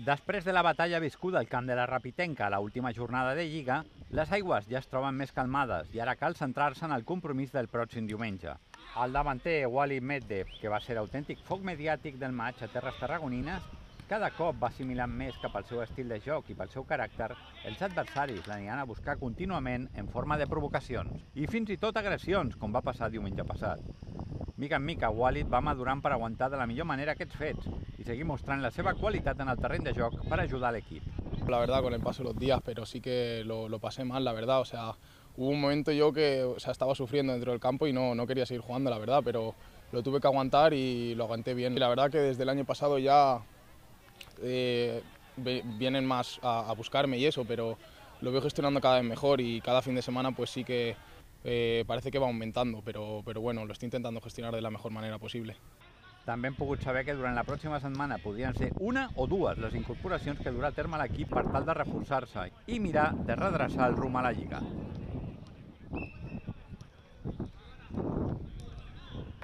Després de la batalla viscuda al camp de la Rapitenca a l'última jornada de Lliga, les aigües ja es troben més calmades i ara cal centrar-se en el compromís del pròxim diumenge. El davanter Walid Medvedev, que va ser l'autèntic foc mediàtic del maig a terres tarragonines, cada cop va assimilant més que pel seu estil de joc i pel seu caràcter, els adversaris l'aniran a buscar contínuament en forma de provocacions i fins i tot agressions, com va passar diumenge passat. Mica en mica, Walid va madurant per aguantar de la millor manera aquests fets y seguir mostrant la seva qualitat en el terreny de joc para ayudar al equipo. La verdad, con el paso de los días, pero sí que lo pasé mal, la verdad. O sea, hubo un momento yo que estaba sufriendo dentro del campo y no quería seguir jugando, la verdad, pero lo tuve que aguantar y lo aguanté bien. Y la verdad que desde el año pasado ya vienen más a buscarme y eso, pero lo veo gestionando cada vez mejor y cada fin de semana pues sí que parece que va aumentando, pero bueno, lo estoy intentando gestionar de la mejor manera posible. També hem pogut saber que durant la pròxima setmana podrien ser una o dues les incorporacions que durà a terme l'equip per tal de reforçar-se i mirar de redreçar el rumb a la Lliga.